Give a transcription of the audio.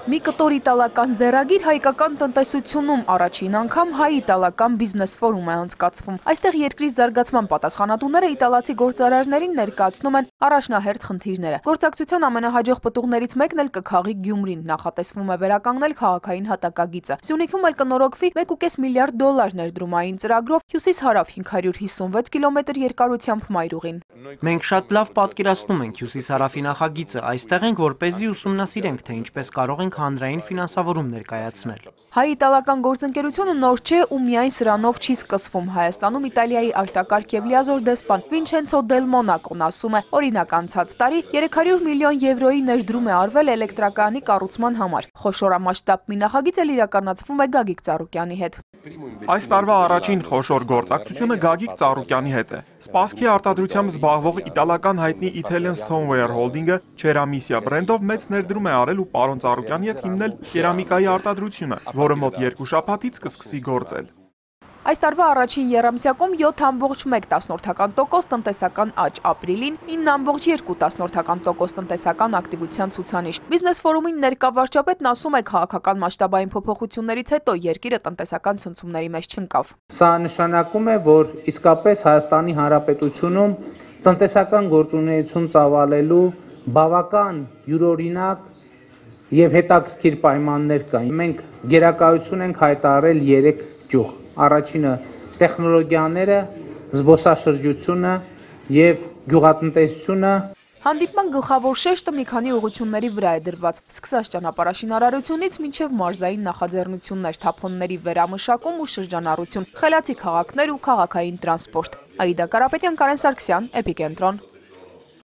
Մի կտոր իտալական ձեռագիր հայկական տնտեսությունում առաջին անգամ հայ-իտալական բիզնես ֆորում է անցկացվում։ Այստեղ երկրի զարգացման պատասխանատուները իտալացի գործարարներին ներկայացնում են առաջնահերթ խնդիրները։ Գործակցության ամենահաջող պտուղներից մեկն էլ կքաղի Գյումրին, նախատեսվում է վերականգնել քաղաքային հատակագիծը։ Սյունիքում էլ կնորոգվի $1.5 միլիարդ ներդրումային ծրագրով հյուսիս-հարավ 556 կիլոմետր երկարությամբ մայրուղին։ Մենք շատ լավ պատկերացնում ենք հյուսիս-հարավի նախագիծը, այստեղ ենք, որպեսզի ուսումնասիրենք, թե ինչպես կարող ենք հանրային ֆինանսավորում ներկայացնել։ Հայ-իտալական գործընկերությունը նոր չէ ու միայն սրանով չի սկսվում։ Հայաստանում Իտալիայի արտակարգ և լիազոր դեսպան Վինչենցո Դել Մոնակոն ասում է, օրինակ անցած տարի 300 միլիոն եվրոյի ներդրում է արվել էլեկտրակայանի կառուցման համար։ Խոշորամասշտաբ մի նախագիծ էլ իրականացվում է Գագիկ Ծառուկյանի հետ։ Այս տարվա առաջին խոշոր գործակցությունը Գագիկ Ծառուկյանի հետ է։ Սպասքի արտադրությամբ զբաղվող իտալական հայտնի Italian Stoneware Holding-ը Ceramisia բրենդով մեծ ներդրում է արել ու պարոն Ծառուկյանի հետ հիմնել կերամիկայի արտադրությունը, որը մոտ 2 շաբաթից կսկսի գործել։ Այս տարվա առաջին եռամսյակում 7,1% տնտեսական աճ, ապրիլին 9,2% տնտեսական ակտիվության ցուցանիշ։ Բիզնես ֆորումին ներկա վարչապետն ասում է, քաղաքական մասշտաբային փոփոխություններից հետո երկիրը տնտեսական ցնցումների մեջ չընկավ։ Սա նշանակում է, որ իսկապես Հայաստանի Հանրապետությունում տնտեսական գործունեություն ծավալելու բավական յուրօրինակ եւ հետաքրքիր պայմաններ կան։ Մենք գերակայություն ենք հայտարարել 3 ճյուղ։ Առաջինը տեխնոլոգիաները, զբոսաշրջությունը եւ գյուղատնտեսությունը։ Հանդիպման գլխավոր շեշտը մի քանի ուղղությունների վրա է դրված, սկսած ճանապարհաշինարարությունից մինչև մարզային նախաձեռնություններ, թափոնների վերամշակում ու շրջանառություն, խելացի քաղաքներ ու քաղաքային տրանսպորտ։ Աիդա Կարապետյան, Կարեն Սարգսյան, Էպիկենտրոն։